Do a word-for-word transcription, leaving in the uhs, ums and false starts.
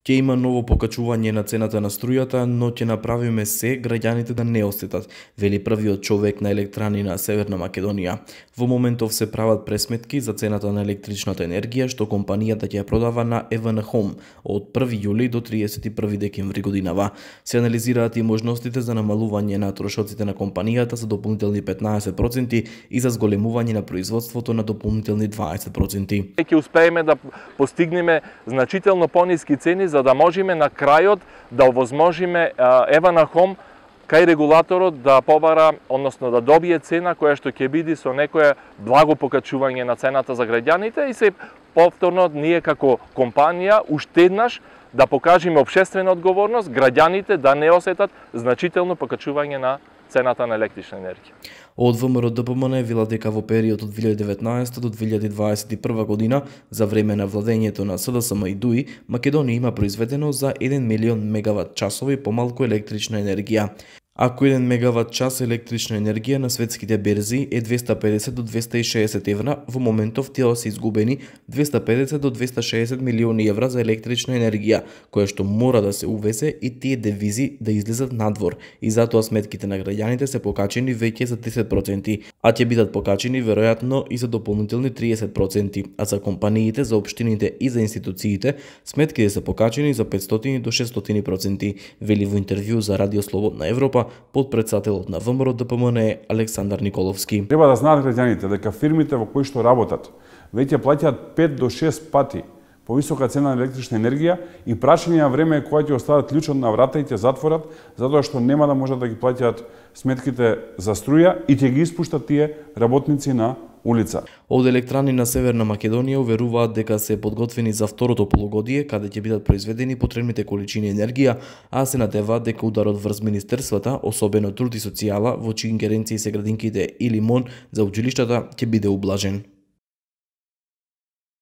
Ќе има ново покачување на цената на струјата, но ќе направиме се граѓаните да не осетат, вели првиот човек на електрани на Северна Македонија. Во моментов се прават пресметки за цената на електричната енергија што компанијата ќе ја продава на ЕВН Home од први јули до триесет и први декември годинава. Се анализираат и можностите за намалување на трошоците на компанијата за дополнителни петнаесет проценти и за зголемување на производството на дополнителни дваесет проценти. Ќе успееме да постигнеме значително пониски цени за да можеме на крајот да овозможиме ЕВН Home кај регулаторот да побара, односно да добие цена која што ќе биде со некое благо покачување на цената за граѓаните и се повторно ние како компанија уште еднаш да покажеме општествена одговорност, граѓаните да не осетат значително покачување на цената на електрична енергија. Од ВМРО Д П М Н вела дека во период од две илјади и деветнаесета до две илјади дваесет и прва година, за време на владењето на С Д С М и Д У И, Македонија има произведено за еден милион мегават часови помалку електрична енергија. Ако еден мегават час електрична енергија на светските берзи е двеста и педесет до двеста и шеесет евра, во моментов тие се изгубени двеста и педесет до двеста и шеесет милиони евра за електрична енергија, која што мора да се увезе и тие девизи да излезат надвор, и затоа сметките на граѓаните се покачени веќе за десет проценти, а ќе бидат покачени веројатно и за дополнителни триесет проценти, а за компаниите, за општините и за институциите сметките се покачени за петстотини до шестстотини проценти, вели во интервју за Радио Слободна Европа подпредседателот на ВМРО Д П М Н Александар Николовски. Треба да знаат граѓаните дека фирмите во кои што работат веќе плаќаат пет до шест пати повисока цена на електрична енергија и прашање на време е кога ќе остават клучот на врата и ќе затворат, затоа што нема да можат да ги плаќаат сметките за струја и ќе ги испуштат тие работници на улица. Од електрани на Северна Македонија уверуваат дека се подготвени за второто полугодие, каде ќе бидат произведени потребните количини енергија, а се надеваат дека ударот врз министерствата, особено труд и социјала, во чии ингеренции се градинките или МОН за училиштата, ќе биде ублажен.